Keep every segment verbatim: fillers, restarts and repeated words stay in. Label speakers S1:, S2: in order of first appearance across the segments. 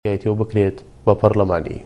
S1: و بکرێت بە پەرلەمانی.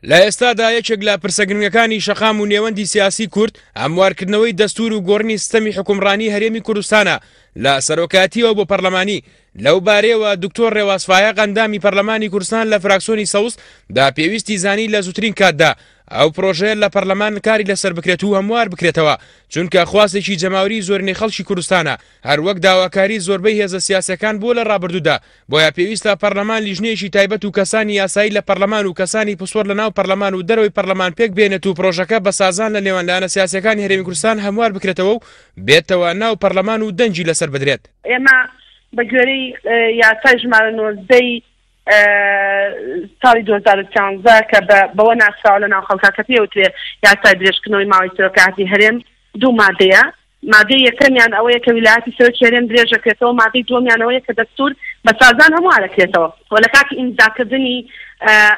S2: لە ئێستادا یەکێک لە پرسە گرنگەکانی شەقام و نێوەندی سیاسی کورد هەموارکردنەوەی دەستور و گۆڕینی سیستەمی حکومڕانی هەرێمی کوردستانە لە سەرۆکایەتیەوە بۆ پەرلەمانی. لەو بارەیەوە دکتۆر ڕێواز فایەق ئەندامی پەرلەمانی کوردستان لە فراکسۆنی سەوز دا پێویستی زانی لە زووترین کاتدا ئەو پرۆژەیە لە پەرلەمان کاری لەسەر بکرێت و هەموار بکرێتەوە، چونکە خواستێکی جەماوری زۆرینەی خەڵکی کوردستانە، هەروەک داواکاری زۆربەی هێزە سیاسەکان بووە لە ڕابردوودا. بۆیە پێویستە پەرلەمان لیژنەیەکی تایبەت و کەسانی یاسایی لە پەرلەمان و کەسانی پسپۆر لە ناو پەرلەمان و دەرەوەی پەرلەمان پێک بێنێت و پرۆژەکە بە سازان لە نێوان لایەنە سیاسیەکانی هەرێمی کوردستان هەموار بکرێتەوە و بێتەوە ناو پەرلەمان و دەنگی لەسەر بدرێت.
S3: ئێمە بە گوێرەی یاسای ژمارە نۆزدەی ساڵی دوو هەزار و سیانزە کە بەوە ناسراوە لە ناو خەڵکا کە پێوترێ یاسای درێژکردنەوەی ماوەی سەرۆکایەتی هەرێم دوو مادەیە. مادەی یەکەمیان ئەوەیە کە ویلایەتی سەرۆکی هەرێم درێژەکرێتەوە، مادەی دووەمیان ئەوەیە کە دەستور بە سازان هەموارەکرێتەوە. و لە کاتی ئیمزاکردنی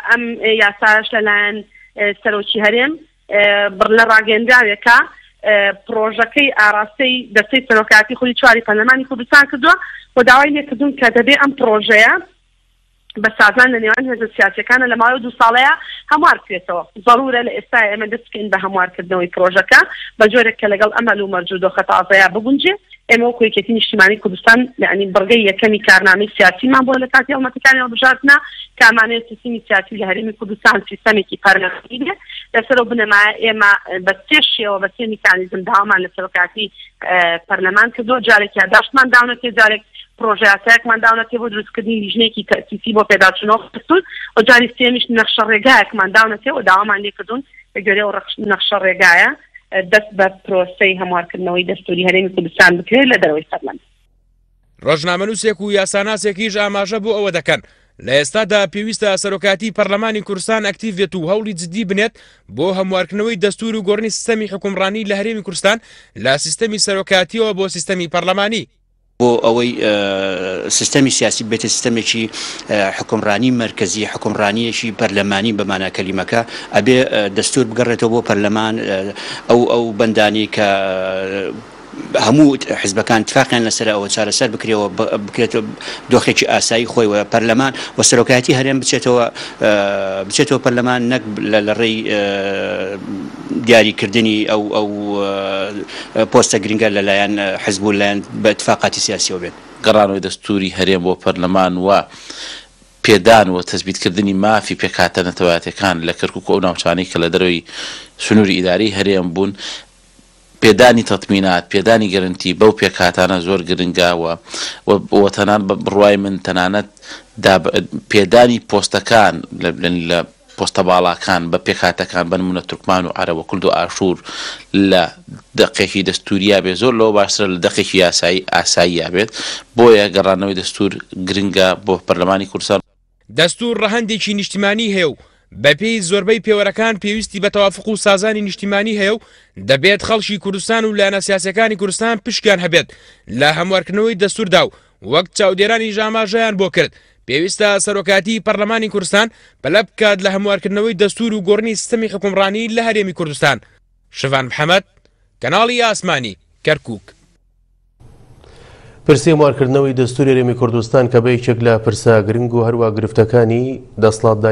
S3: ئەم یاسایش لەلایەن سەرۆکی هەرێم بڕ لە ڕاگەندراوێکە پرۆژەکەی ئاراستەی دەستەی سەرۆکایەتی خولی چواری پەرلەمانی کوردستان کردووە و داوای لێکردون کە دەبێ ئەم پرۆژەیە بە سازان لە نێوان هێزە سیاسیەکانە لە ماوەی دوو ساڵەیە هەموار بکرێتەوە. ضرورە لە ئێستا ئێمە دەست بکەین بە هەموارکردنەوەی پرۆژەکە بە جۆرێک کە لەگەڵ ئەمەل و مەرج و دۆخە تازەیە بگونجێ. ئێمە وەکو یەکێتی نیشتیمانی کوردستان یعنی بڕگەی یەکەمی کارنامەی سیاسیمان بووە لە کاتی هەڵمەتەکانی هەڵبژاردنە کە ئەمانەیە سیستمی سیاسی لە هەرێمی کوردستان سیستەمێکی پەرلەمانی بێ. لەسەر ئەو بنەمایە ئێمە بە سێ شێوە بە سێ میکانیزم داوامان لە سەرۆکایەتی پەرلەمان کردووە. جارێک یاداشتمان داونەتێ، جارێک پرۆژە یاسایەکمان داونەتێ بۆ دروستکردنی لیژنەیەکی تەئسیسی بۆ پێداچوونەوە دەستور، و جاری سێمیش نەخشە ڕێگایەکمان داونەتێ و داوامان لێکردوون بە گوێرەی ئەو نەخشە ڕێگایە دەست بە پرۆسەی هەموارکردنەوەی دەستوری هەرێمی کوردستان بکرێت لە دەرەوەی پەرلەمان.
S2: ڕۆژنامەنووسێک و یاساناسێکیش ئاماژە بۆ ئەوە دەکەن لە ئێستادا پێویستە سەرۆکایەتی پەرلەمانی کوردستان ئەکتیڤ بێت و هەوڵی جدی بنێت بۆ هەموارکردنەوەی دەستور و گۆڕینی سیستەمی حکومڕانی لە هەرێمی کوردستان لە سیستەمی سەرۆکایەتیەوە بۆ سیستەمی پەرلەمانی.
S4: بۆ ئەوەی سیستەمی سیاسی بێتە سیستەمێکی حکومڕانی مەرکەزی، حکومڕانیەکی پەرلەمانی بەمانا کەلیمەکە، ئەبێ دەستور بگەڕێتەوە بۆ پەرلەمان. ئەو ئەو بەندانی کە هەموو حزبەکان اتفاقیان لەسەر ئەوە چارەسەر بکرێەوە، بکرێتەوە دۆخێکی ئاسایی خۆی و پەرلەمان و سەرۆکایەتی هەرێم بچێتەوە بچێتەوە پەرلەمان، نەک لە ڕێی دیاریکردنی ئەو ئەو پۆستە گرنگە لەلایەن حزب و لایەن بە اتفاقاتی سیاسیەوە بێت.
S5: گەڕانەوەی دەستوری هەرێم بۆ پەرلەمان و پێدان و تەثبیتکردنی مافی پێکهاتە نەتەوایەتەکان لە کەرکوک و ئەو ناوچانەی کە لە دەرەوەی سنووری ئیداری هەرێم بوون، پێدانی تەتمینات، پێدانی گەرنتی بەو پێکهاتانە زۆر گرنگە و تەنان بە بڕوای من تەنانەت پێدانی پۆستەکان لە پۆستە باڵاکان بە پێکهاتەکان بە نمونە تورکمان و عەرەب و کورد و ئاشوور لە دەقێکی دەستوریا بێت زۆر لەوە باشترە لە دەقێکی یاسایی ئاساییە بێت. بۆیە گەڕانەوەی دەستور گرنگە بۆ پەرلەمانی کوردستان.
S2: دەستور ڕەهەندێکی نیشتیمانی هەیە و بەپێی زۆربەی پێوەرەکان پێویستی بە تەوافق و سازانی نیشتیمانی هەیە و دەبێت خەڵکی کوردستان و لایەنە سیاسەکانی کوردستان پشکیان هەبێت لە هەموارکردنەوەی دەستوردا و وەک چاودێرانی ئاماژەیان بۆ کرد پێویستە سەرۆکایەتی پەرلەمانی کوردستان پەلە بکات لە هەموارکردنەوەی دەستور و گۆڕینی سیستەمی حکومڕانی لە هەرێمی کوردستان. شڤان محەممەد، کەناڵی ئاسمانی، کەرکوک.
S1: پرسی هەموارکردنەوەی دەستوری هەرێمی کوردستان کە بە یەکێک لە پرسە گرنگ و هەروە گرفتەکانی دەسەڵاتداری